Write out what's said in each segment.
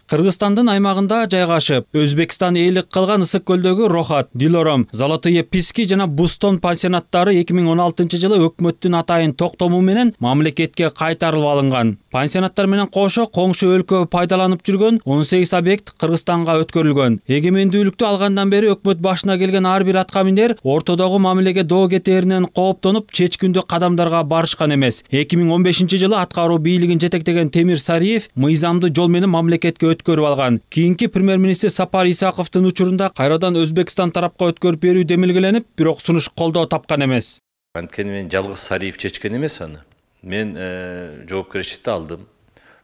Кыргызстандын аймагында жайгашып, Өзбекстан ээлик кылган Ысык көлдөгү Рохат, Дилором, Золотые Писки жана Бустон пансионаттары 2016-жылы өкмөттүн атайын токтому менен мамлекетке кайтарылып алынган. Пансионаттар менен кошо коңшу өлкө пайдаланып жүргөн 18 объект Кыргызстанга өткөрүлгөн. Эгемендүүлүктү алгандан бери өкмөт башына келген ар бир атка минер ортодогу мамилеге доо кетээринен кооптонуп, чечкиндүү кадамдарга барышкан эмес. 2015-жылы аткаруу бийлигин жетектеген Темир Сариев мыйзамдуу жол менен мамлекетке өткөрүп алган. Кийинки премьер-министр Сапар Исаковдун учурунда кайрадан Өзбекстан тарапка өткөрүп берүү демилгеленип, бирок сунуш колдоо тапкан эмес. Анткени мен жалгыз Сариев чечкен эмес аны. Мен жоопкерчиликти алдым.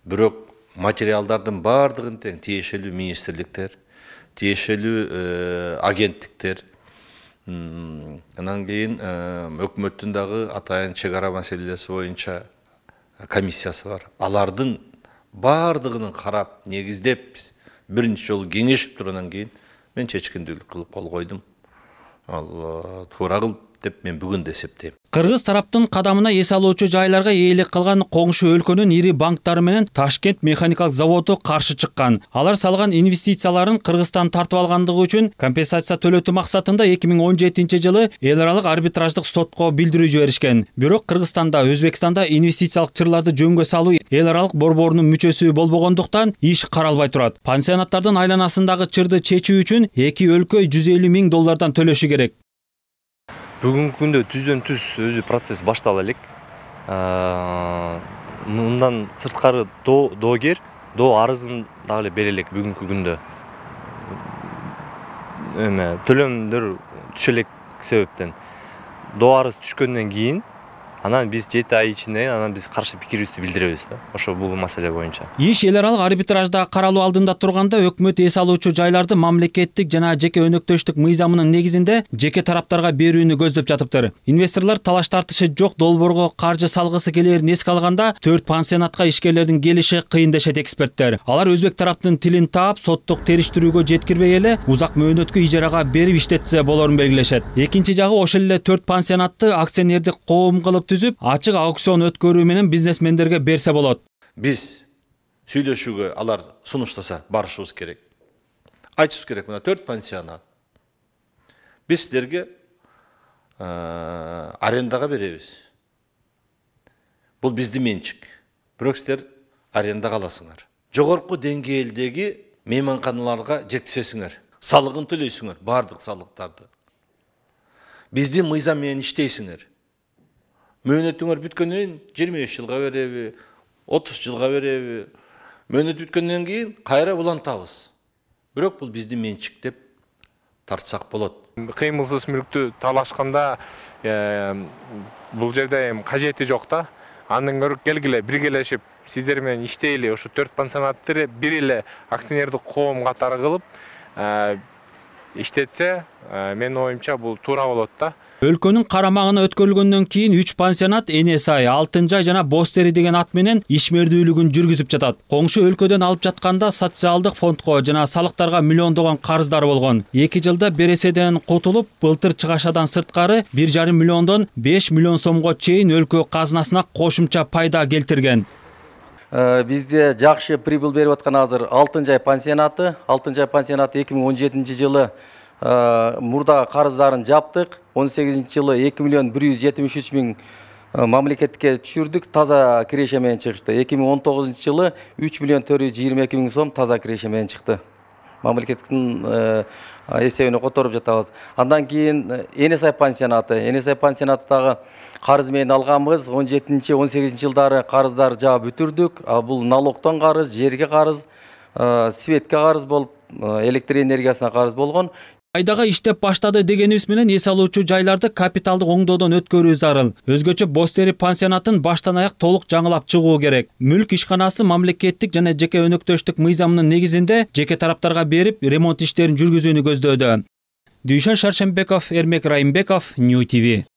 Бирок материалдардын бардыгын тең тиешелүү министрликтер, тиешелүү агенттиктер, анан кийин өкмөттүн дагы атайын чек ара маселеси боюнча комиссиясы бар. Алардын бардыгынын карап, негиздеп, биринчи жолу кеңешип тургандан кийин мен чечкиндүүлүк кылып кол койдум. Ал туура кыл деп мен бүгүн да эсептейм. Кыргыз тараптын кадамына эс алуучу жайларга ээлик кылган коңшу өлкөнүн ири банктары менен Ташкент механикалык заводу каршы чыккан. Алар салган инвестицияларын Кыргызстан тартып алгандыгы үчүн компенсация төлөтүү максатында 2017-жылы эл аралык арбитраждык сотко билдирүү жиберишкен. Бирок Кыргызстанда, Өзбекстанда инвестициялык чырларды жөнгө салуу эл аралык борборунун мүчөсү болбогондуктан иш каралбай турат. Пансионаттардын айланасындагы чырды чечүү үчүн эки өлкө $150,000 төлөшү керек. Бүгүнкү күндө түздөн түз өзү процесс баштала элек. Мындан сырткары доогер доо арызын дагы эле бере элек бүгүнкү күндө. Төлөмдөр түшө элек себептен. Доо арыз түшкөндөн кийин анан биз 7 ай ичинде анан биз каршы пикирибизди билдиребиз да. Ошо бул маселе боюнча. Иш эл аралык арбитражда каралуу алдында турганда өкмөт эс алуучу жайларды мамлекеттик жана жеке өнөктөштүк мыйзамынын негизинде жеке тараптарга берүүнү көздөп жатыптыр. Инвесторлор талаш тартышы жок долбоорго каржы салгысы келээрин эске алганда 4 пансионатка ишкерлердин келиши кыйын дешет эксперттер. Алар өзбек тараптын тилин таап, соттук териштирүүгө жеткирбей эле узак мөөнөткө ижарага берип иштетсе болорун белгилешет. Экинчи жагы ошол эле 4 пансионатты акционердик коом кылып түзүп, ачык аукцион өткөрүү менен бизнесмендерге берсе болот. Биз сүйлөшүүгө алар сунуштаса барышыбыз керек. Айтышыбыз керек, мына 4 пансионат. Биз силерге арендага беребиз. Бул биздин менчик. Бирок силер арендага аласыңар. Жогорку деңгээлдеги мейманканаларга жеткизесиңер. Салыгын төлөйсүңөр, бардык салыктарды. Биздин мыйзам менен иштейсиңер. Мөөнөтүңөр бүткөндөн 25 жылга береби, 30 жылга береби. Мөөнөт бүткөндөн кийин кайра улантабыз. Бирок бул биздин менчик деп тартсак болот. Кыймылсыз мүлктү талашканда бул жерде кажети жок да. Андан көрө келгиле биргелешип сиздер менен иштейли, ошо 4 пансионатты бир эле акционердик коом катары кылып иштетсе, менин оюмча бул туура болот да. Өлкөнүн карамагына өткөрүлгөндөн кийин 3 пансионат Энесай, Алтынжай жана Бостери деген ат менен ишмердүүлүгүн жүргүзүп жатат. Коңшу өлкөдөн алып жатканда социалдык фондко жана салыктарга миллиондогон карыздары болгон. 2 жылда береседен кутулуп, былтыр чыгашадан сырткары 1,5 миллиондон 5 миллион сомго чейин өлкө казынасына кошумча пайда келтирген. Бизде жакшы прибыл берип аткан азыр Алтынжай пансионаты. Алтынжай пансионаты 2017-жылы мурда карыздарын жаптык. 18-жылы 2 миллион 173 миң мамлекетке түшүрдүк, таза киреше менен чыгышты. 2019-жылы 3 миллион 422 миң сом таза киреше менен чыкты. Мамлекеттин эсебине которуп жатабыз. Андан кийин Энесай пансионаты. Энесай пансионаты дагы карыз менен алганбыз. 17-18 жылдары карыздар жаап бүтүрдүк. Бул налогтон карыз, жерге карыз, светке карыз болуп, электр энергиясына карыз болгон. Айдага иштеп баштады дегенибиз менен эс алуучу жайларды капиталдык оңдоодон өткөрүү зарыл. Өзгөчө Бостери пансионатын баштан аяк толук жаңылап чыгуу керек. Мүлк ишканасы мамлекеттик жана жеке өнөктөштүк мыйзамынын негизинде жеке тараптарга берип, ремонт иштерин жүргүзүүнү көздөөдө. Дүйшөн Шаршембеков, Эрмек Райымбеков, New TV.